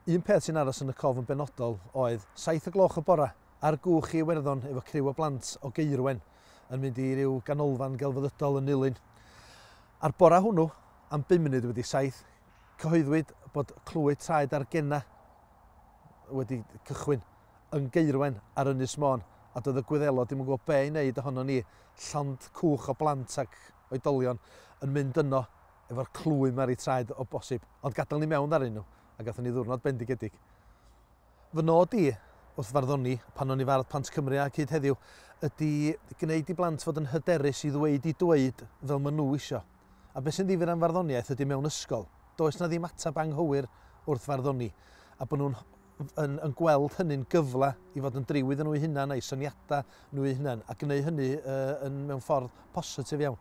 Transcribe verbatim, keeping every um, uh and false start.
Un peth sy'n aros yn y cof yn benodol oedd saith o gloch y bora ar gwch i Iwerddon efo criw o blant o Gaerwen yn mynd i ryw ganolfan gelfyddydol yn Nulyn. A'r bora hwnnw, am bum munud wedi saith, cyhoeddwyd bod clwy traed ar genna wedi cychwyn yn Gaerwen ar Ynys Môn, a doedd y Gwyddelod ddim yn gwybod be i wneud ohono ni, llond cwch o blant ac oedolion yn mynd yno efo'r clwy 'ma ar eu traed o bosib, ond gadael ni mewn arnyn nhw, a gathon ni ddiwrnod bendigedig. Fy nod i wrth farddoni, pan o'n i fardd Plant Cymru ac hyd heddiw, ydy gwneud i blant fod yn hyderus i ddweud i dweud fel maen nhw isio. A beth sy'n ddifyr am farddoniaeth ydy mewn ysgol, does na ddim ateb anghywir wrth farddoni, a bod nhw'n yn, yn gweld hynny'n gyfle i fod yn driw iddyn nhw eu hunain a'i syniadau nhw eu hunain, a gwneud hynny uh, yn, mewn ffordd positif iawn.